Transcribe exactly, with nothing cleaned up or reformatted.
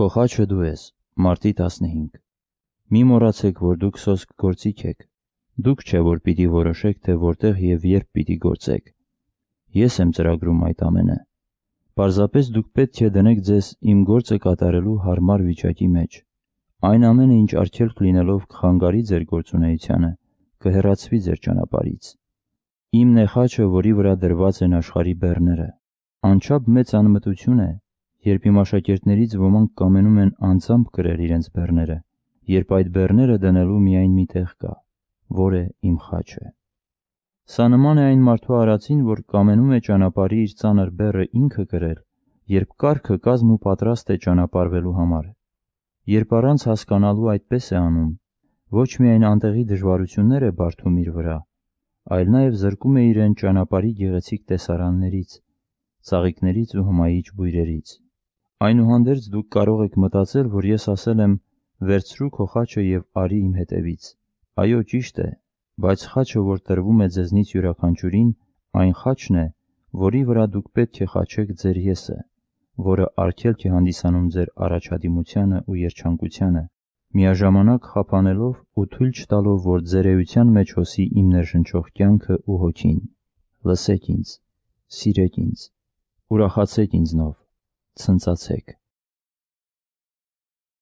Քո խաչը դու ես, Մարտի տասնհինգ։ Մի մոռացեք, որ դուք սոսկ գործիք եք։ Դուք չէ, որ պիտի որոշեք, թե որտեղ և երբ պիտի գործեք։ Ես եմ ծրագրում այդ ամենը։ Պարզապես դուք պետք է դնեք ձեզ իմ գործը կատարելու հարմար վիճակի մեջ։ Այն ամենը, ինչ արգելք լինելով կխանգարի ձեր գործունեությանը, կհեռացվի ձեր ճանապարհից։ Իմն է խաչը, որի վրա դրված են աշխարհի բեռները։ Անչափ մեծ անմտություն է, երբ իմ աշակերտներից ոմանք կամենում են անձամբ կրել իրենց բեռները, երբ այդ բեռները դնելու միայն մի տեղ կա, որ է իմ խաչը։ Սա նման է այն մարդու արածին, որ կամենում է ճանապարհի իր ծանր բեռը ինքը կրել, երբ կառքը կազմ ու պատրաստ է ճանապարհվելու համար։ Երբ առանց հասկանալու այդպես է անում, ոչ միայն անտեղի դժվարություններ է բարդում իր վրա, այլ նաև զրկում է իրեն ճանապարհի գեղեցիկ տեսարաններից, ծաղիկներից ու հմայիչ բույրերից։ Այնուհանդերձ դուք կարող եք մտածել, որ ես ասել եմ «Վերցրու քո խաչը և արի իմ հետևից»։ Այո, ճիշտ է, բայց խաչը, որ տրվում է ձեզնից յուրաքանչյուրին, այն խաչն է, որի վրա դուք պետք է խաչեք ձեր եսը, որը արգելք է հանդիսանում ձեր առաջադիմությանը ու երջանկությանը, միաժամանակ խափանելով ու թույլ չտալով, որ ձեր էության մեջ հոսի իմ ներշնչող կյանքը ու հոգին։ Լսեք ինձ, սիրեք ինձ, ուրախացեք ինձնով, ցնծացեք։